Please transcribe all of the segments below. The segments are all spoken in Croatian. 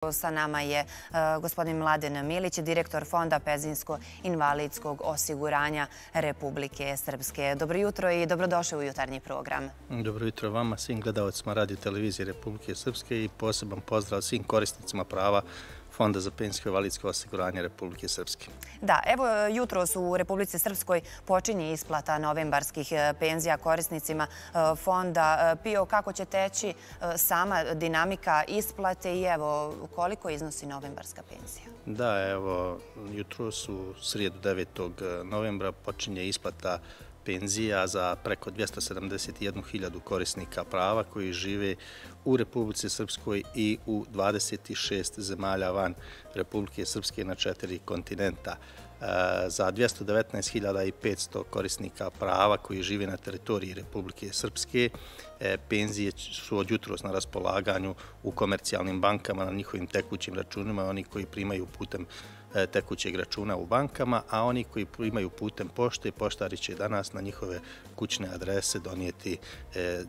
Sa nama je gospodin Mladen Milić, direktor Fonda penzijsko-invalidskog osiguranja Republike Srpske. Dobro jutro i dobrodošli u jutarnji program. Dobro jutro vama, svim gledalcima Radio televizije Republike Srpske i poseban pozdrav svim korisnicima prava Fonda za penzijsko-invalidsko osiguranje Republike Srpske. Da, evo jutros u Republici Srpskoj počinje isplata novembarskih penzija korisnicima Fonda PIO. Kako će teći sama dinamika isplate i evo koliko iznosi novembarska penzija? Da, evo jutros u srijedu 9. novembra počinje isplata penzija za preko 271.000 korisnika prava koji žive u Republici Srpskoj i u 26 zemalja van Republike Srpske na 4 kontinenta. Za 219.500 korisnika prava koji žive na teritoriji Republike Srpske penzije su od jutros na raspolaganju u komercijalnim bankama na njihovim tekućim računima, oni koji primaju putem tekućeg računa u bankama, a oni koji primaju putem pošte, poštari će danas na njihove kućne adrese donijeti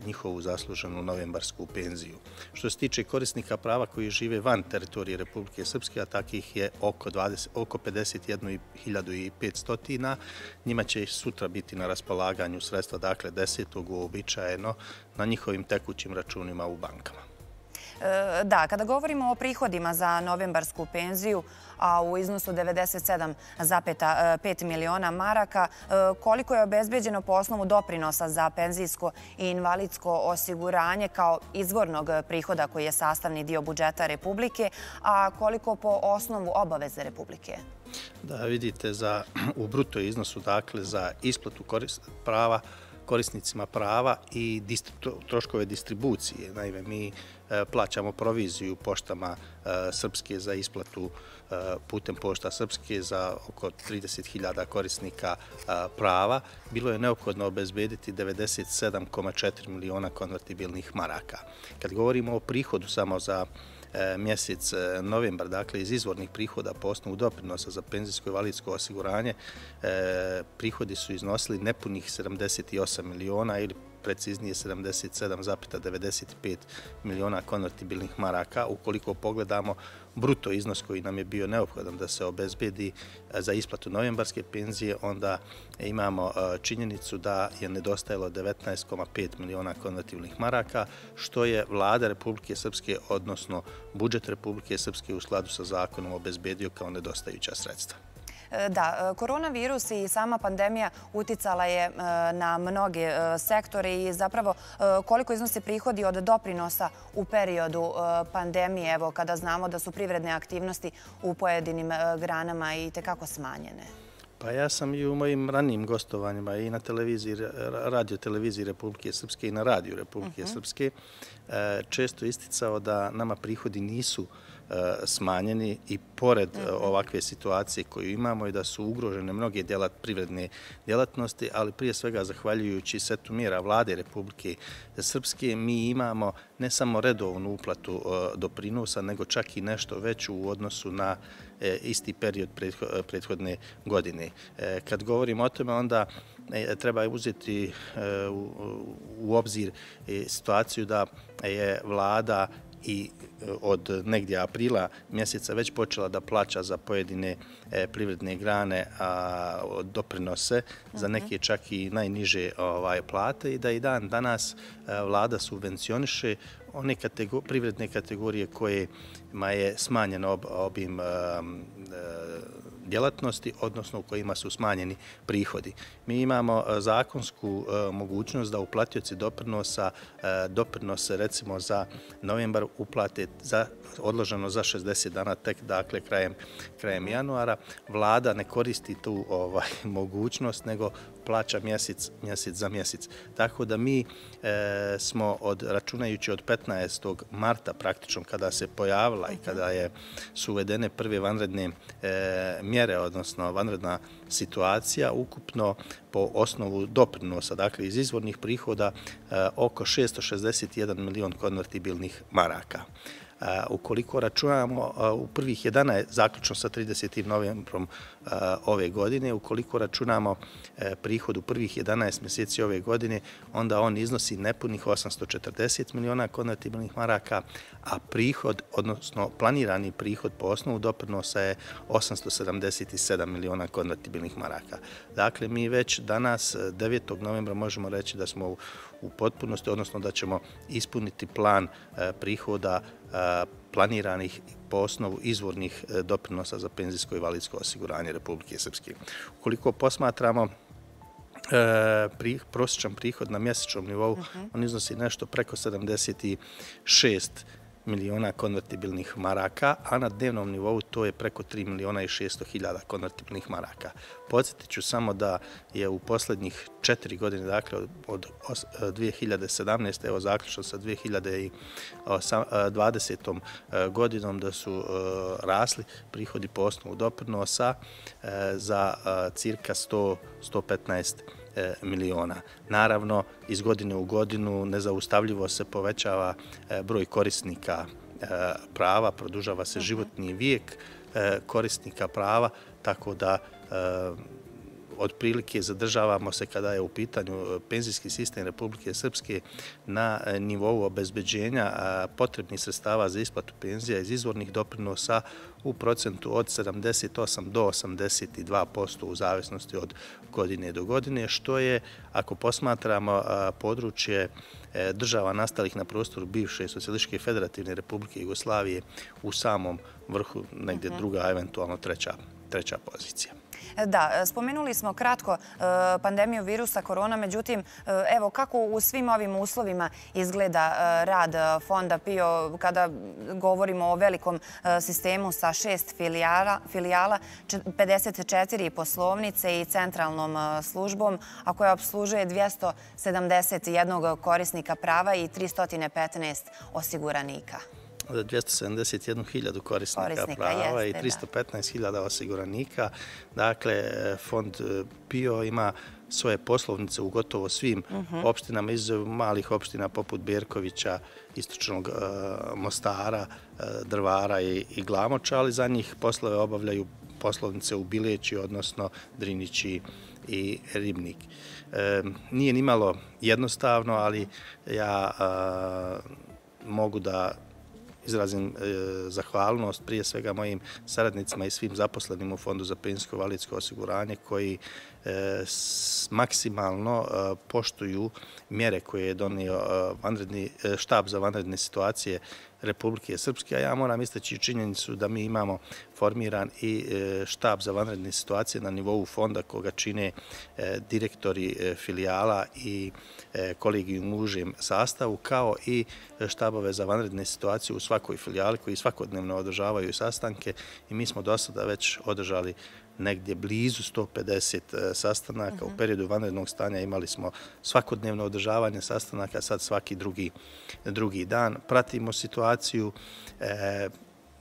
njihovu zasluženu novembarsku penziju. Što se tiče korisnika prava koji žive van teritorije Republike Srpske, a takih je oko 51.500, njima će sutra biti na raspolaganju sredstva, dakle 10. uobičajeno na njihovim tekućim računima u bankama. Da, kada govorimo o prihodima za novembarsku penziju, a u iznosu 97,5 miliona maraka, koliko je obezbeđeno po osnovu doprinosa za penzijsko i invalidsko osiguranje kao izvornog prihoda koji je sastavni dio budžeta Republike, a koliko po osnovu obaveze Republike? Da, vidite, u bruto iznosu, dakle, za isplatu korisnicima prava i troškove distribucije. Naime, mi plaćamo proviziju poštama Srpske za isplatu putem pošta Srpske za oko 30.000 korisnika prava. Bilo je neophodno obezbediti 97,4 miliona konvertibilnih maraka. Kad govorimo o prihodu samo za mjesec novembar, dakle iz izvornih prihoda po osnovu doprinosa za penzijsko-invalidsko osiguranje, prihodi su iznosili nepunih 78 miliona ili preciznije 77,95 miliona konvertibilnih maraka. Ukoliko pogledamo bruto iznos koji nam je bio neophodan da se obezbedi za isplatu novembarske penzije, onda imamo činjenicu da je nedostajalo 19,5 miliona konvertibilnih maraka, što je vlada Republike Srpske, odnosno budžet Republike Srpske u skladu sa zakonom obezbedio kao nedostajuća sredstva. Da, koronavirus i sama pandemija uticala je na mnoge sektore i zapravo koliko iznose prihodi od doprinosa u periodu pandemije, evo kada znamo da su privredne aktivnosti u pojedinim granama i tekako smanjene. Pa ja sam i u mojim ranijim gostovanjima i na radio televiziji Republike Srpske i na radiju Republike Srpske često isticao da nama prihodi nisu smanjeni i pored ovakve situacije koju imamo i da su ugrožene mnoge privredne djelatnosti, ali prije svega zahvaljujući setu mjera vlade Republike Srpske mi imamo ne samo redovnu uplatu doprinosa, nego čak i nešto veću u odnosu na isti period prethodne godine. Kad govorimo o tome, onda treba uzeti u obzir situaciju da je vlada i od negdje aprila mjeseca već počela da plaća za pojedine privredne grane doprinose, za neke čak i najniže plate i da i dan danas vlada subvencioniše one privredne kategorije kojima je smanjen obim djelatnosti, odnosno u kojima su smanjeni prihodi. Mi imamo zakonsku mogućnost da uplatioci doprinose recimo za novembar uplate odloženo za 60 dana, tek dakle krajem januara. Vlada ne koristi tu mogućnost, nego plaća mjesec za mjesec. Tako da mi smo računajući od 15. marta praktično kada se pojavila i kada su uvedene prve vanredne mjere, odnosno vanredna situacija, ukupno po osnovu doprinosa, dakle iz izvornih prihoda, oko 661 milion konvertibilnih maraka. Ukoliko računamo u prvih 11, zaključno sa 30. novembrom ove godine, ukoliko računamo prihod u prvih 11 mjeseci ove godine, onda on iznosi nepunih 840 miliona konvertibilnih maraka, a prihod, odnosno planirani prihod po osnovu doprinosa je 877 miliona konvertibilnih maraka. Dakle, mi već danas, 9. novembra, možemo reći da smo u potpunosti, odnosno da ćemo ispuniti plan prihoda planiranih po osnovu izvornih doprinosa za penzijsko i invalidsko osiguranje Republike Srpske. Ukoliko posmatramo prosječan prihod na mjesečnom nivou, on iznosi nešto preko 76 miliona konvertibilnih maraka, a na dnevnom nivou to je preko 3 miliona i 600 hiljada konvertibilnih maraka. Podsjetit ću samo da je u posljednjih 4 godine, dakle od 2017. evo zaključno sa 2020. godinom, da su rasli prihodi po osnovu doprinosa za cirka 115 miliona. Naravno, iz godine u godinu nezaustavljivo se povećava broj korisnika prava, produžava se životni vijek korisnika prava, tako da otprilike zadržavamo se kada je u pitanju penzijski sistem Republike Srpske na nivou obezbeđenja potrebnih sredstava za isplatu penzija iz izvornih doprinosa u procentu od 78 do 82% u zavisnosti od godine do godine, što je, ako posmatramo područje država nastalih na prostoru bivše Socijalističke federativne Republike Jugoslavije, u samom vrhu, negdje druga, eventualno treća pozicija. Da, spomenuli smo kratko pandemiju virusa korona, međutim, evo kako u svim ovim uslovima izgleda rad Fonda PIO kada govorimo o velikom sistemu sa 6 filijala, 54 poslovnice i centralnom službom, a koja obslužuje 271 korisnika prava i 315 osiguranika. 271.000 korisnika prava i 315.000 osiguranika. Dakle, Fond PIO ima svoje poslovnice u gotovo svim opštinama, izuzev malih opština poput Berkovića, Istočnog Mostara, Drvara i Glamoča, ali za njih poslove obavljaju poslovnice u Bileći, odnosno Drinići i Ribnik. Nije nimalo jednostavno, ali ja mogu da izrazim zahvalnost prije svega mojim saradnicima i svim zaposlenim u Fondu za penzijsko i invalidsko osiguranje koji maksimalno poštuju mjere koje je donio štab za vanredne situacije Republike Srpske, a ja moram istaći činjenicu da mi imamo formiran i štab za vanredne situacije na nivou fonda koga čine direktori filijala i kolegijum u užem sastavu, kao i štabove za vanredne situacije u svakoj filijali koji svakodnevno održavaju sastanke, i mi smo do sada već održali negdje blizu 150 sastanaka. U periodu vanrednog stanja imali smo svakodnevno održavanje sastanaka, sad svaki drugi dan. Pratimo situaciju.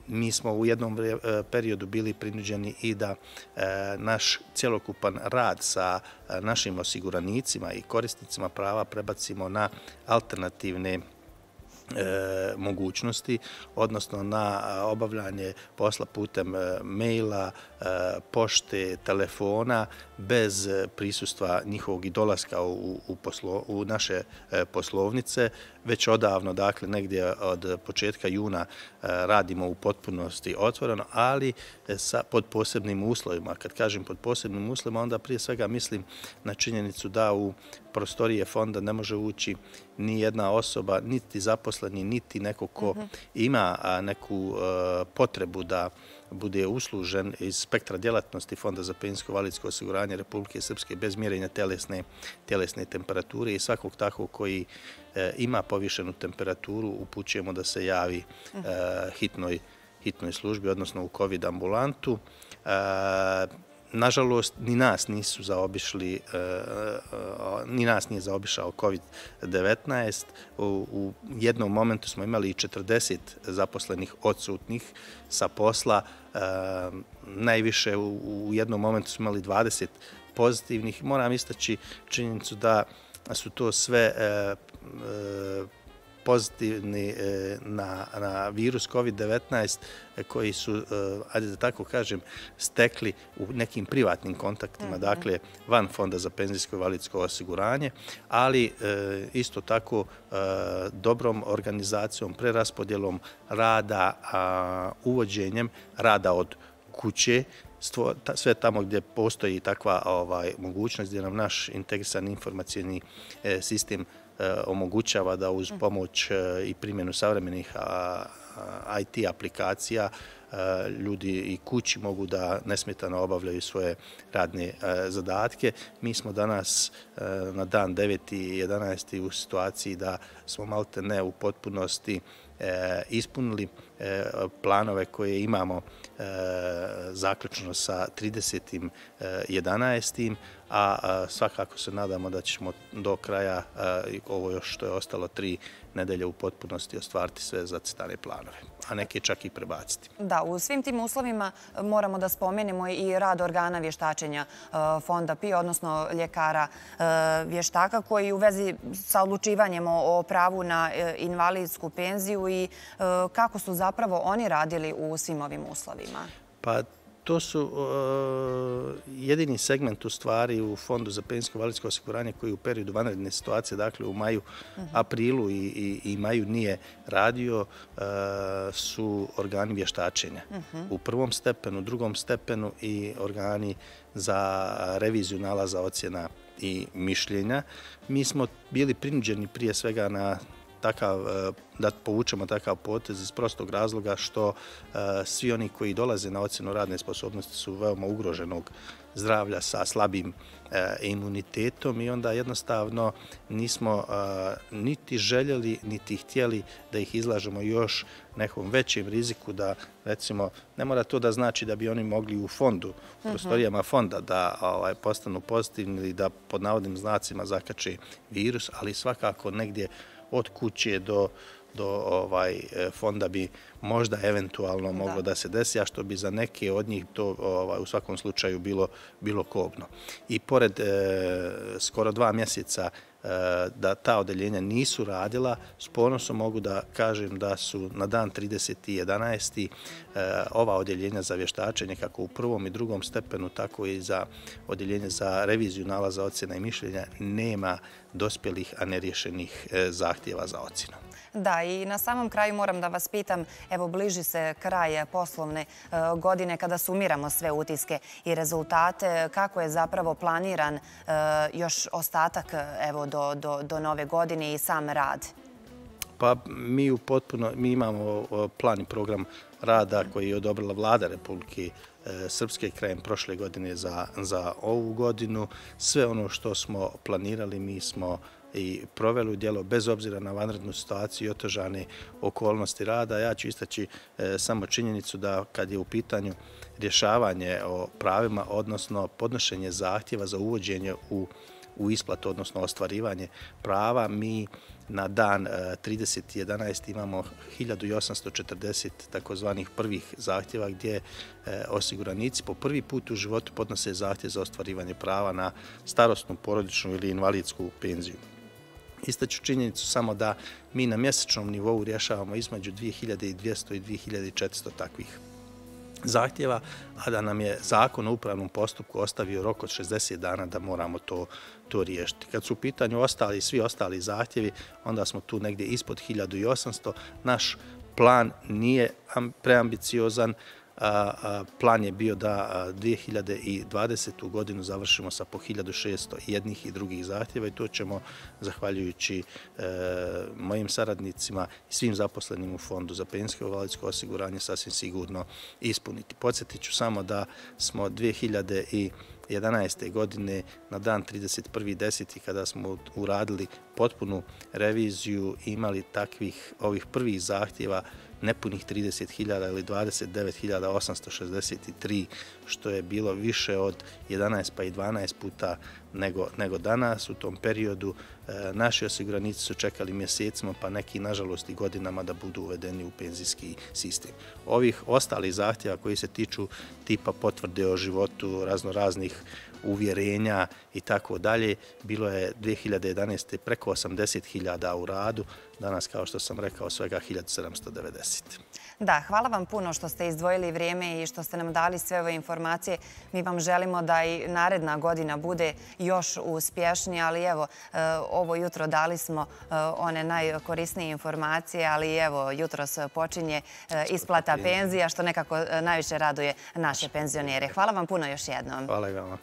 Mi smo u jednom periodu bili prinuđeni i da naš cjelokupan rad sa našim osiguranicima i korisnicima prava prebacimo na alternativne mogućnosti, odnosno na obavljanje posla putem maila, pošte, telefona, bez prisustva njihovog i dolaska u naše poslovnice. Već odavno, dakle, negdje od početka juna radimo u potpunosti otvoreno, ali pod posebnim uslovima. Kad kažem pod posebnim uslovima, onda prije svega mislim na činjenicu da u prostorije fonda ne može ući ni jedna osoba, niti zaposleni, niti neko ko ima neku potrebu da bude uslužen iz spektra djelatnosti Fonda za penzijsko i invalidsko osiguranje Republike Srpske bez mjerenja tjelesne temperature, i svakog takvog koji ima povišenu temperaturu upućujemo da se javi hitnoj službi, odnosno u COVID ambulantu. Nažalost, ni nas nije zaobišao COVID-19. U jednom momentu smo imali i 40 zaposlenih odsutnih sa posla. Najviše u jednom momentu smo imali 20 pozitivnih. Moram istaći činjenicu da su to sve pozitivni na virus COVID-19 koji su, ajde da tako kažem, stekli u nekim privatnim kontaktima, dakle van Fonda za penzijsko i invalidsko osiguranje, ali isto tako dobrom organizacijom, preraspodjelom rada, uvođenjem rada od kuće, sve tamo gdje postoji takva mogućnost, gdje nam naš integrisani informacijni sistem omogućava da uz pomoć i primjenu savremenih IT aplikacija ljudi i kući mogu da nesmetano obavljaju svoje radne zadatke. Mi smo danas na dan 9.11. u situaciji da smo malte ne u potpunosti ispunili planove koje imamo zaključno sa 30.11. a svakako se nadamo da ćemo do kraja, ovo još što je ostalo 3 nedelje, u potpunosti ostvariti sve zacrtane planove, a neke čak i prebaciti. Da, u svim tim uslovima moramo da spomenemo i rad organa vještačenja Fonda PIO, odnosno ljekara vještaka, koji u vezi sa odlučivanjem o pravu na invalidsku penziju i kako su zapravo oni radili u svim ovim uslovima. Pa to su jedini segment u stvari u Fondu za penzijsko i invalidsko osiguranje koji u periodu vanredne situacije, dakle u maju, aprilu i maju nije radio, su organi vještačenja. U prvom stepenu, drugom stepenu i organi za reviziju nalaza, ocjena i mišljenja. Mi smo bili prinuđeni prije svega da povučemo takav potez iz prostog razloga što svi oni koji dolaze na ocjenu radne sposobnosti su veoma ugroženog zdravlja sa slabim imunitetom i onda jednostavno nismo niti željeli, niti htjeli da ih izlažemo još nekom većem riziku da, recimo, ne mora to da znači da bi oni mogli u fondu, u prostorijama fonda da postanu pozitivni ili da pod navodnim znacima zakače virus, ali svakako negdje od kuće do fonda bi možda eventualno moglo da se desi, a što bi za neke od njih to u svakom slučaju bilo kobno. I pored skoro 2 mjeseca da ta odeljenja nisu radila, s ponosom mogu da kažem da su na dan 30.11. ova odeljenja za vještačenje, kako u prvom i drugom stepenu, tako i za odeljenje za reviziju nalaza, ocjena i mišljenja, nema dospjelih, a neriješenih zahtjeva za ocjenu. Da, i na samom kraju moram da vas pitam, evo bliži se kraj poslovne godine kada sumiramo sve utiske i rezultate, kako je zapravo planiran još ostatak do nove godine i sam rad? Pa mi imamo plan i program rada koji je odobrila Vlada Republike Srpske krajem prošle godine za ovu godinu. Sve ono što smo planirali mi smo i proveli u djelo bez obzira na vanrednu situaciju i otežane okolnosti rada. Ja ću istaći samo činjenicu da kad je u pitanju rješavanje o pravima, odnosno podnošenje zahtjeva za uvođenje u isplatu, odnosno ostvarivanje prava, mi na dan 30.11. imamo 1840 takozvanih prvih zahtjeva gdje osiguranici po prvi put u životu podnose zahtjev za ostvarivanje prava na starosnu, porodičnu ili invalidsku penziju. Istaću činjenicu samo da mi na mjesečnom nivou rješavamo između 2200 i 2400 takvih zahtjeva, a da nam je Zakon o upravnom postupku ostavio rok od 60 dana da moramo to riješiti. Kad su u pitanju svi ostali zahtjevi, onda smo tu negdje ispod 1800. Naš plan nije preambiciozan. Plan je bio da 2020. godinu završimo sa po 1600 jednih i drugih zahtjeva i to ćemo, zahvaljujući mojim saradnicima i svim zaposlenim u Fondu za penzijsko i invalidsko osiguranje, sasvim sigurno ispuniti. Podsjetit ću samo da smo 2011. godine na dan 31.10. kada smo uradili potpunu reviziju imali ovih prvih zahtjeva nepunih 30.000 ili 29.863, što je bilo više od 11 pa i 12 puta nego danas. U tom periodu naši osiguranici su čekali mjesecima, pa neki, nažalost, i godinama da budu uvedeni u penzijski sistem. Ovih ostalih zahtjeva koji se tiču tipa potvrde o životu, raznoraznih uvjerenja i tako dalje, bilo je 2011. preko 80.000 u radu, danas, kao što sam rekao, svega 1790. Da, hvala vam puno što ste izdvojili vrijeme i što ste nam dali sve ove informacije. Mi vam želimo da i naredna godina bude još uspješnija, ali evo, ovo jutro dali smo one najkorisnije informacije, ali evo, jutros počinje isplata penzija, što nekako najviše raduje naše penzionere. Hvala vam puno još jednom. Hvala i vama.